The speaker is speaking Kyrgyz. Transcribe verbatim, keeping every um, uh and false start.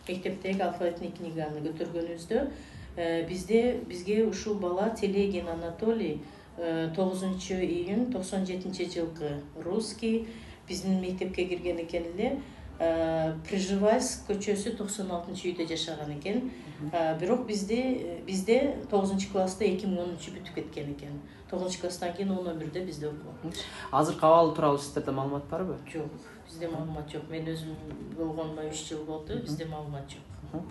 мектептеги алфавитный книганы көтөргөнүбүздө бизде бизге ушул бала Телегин Анатолий тогузунчу июнь токсон жетинчи жылкы русский биздин мектепке кирген экен эле. Приживальск көчөсү токсон алтынчы үйдө жашаган экен. Бирок бизде бизде тогузунчу класста эки миң онунчу бүтүп кеткен экен. тогузунчу класстан кийин он бирде бизде окуган. Азыркы абалы тууралуу сиздерде маалымат барбы? Жок, бизде маалымат жок. Мен өзүм болгонума үч жыл болду, бизде маалымат жок.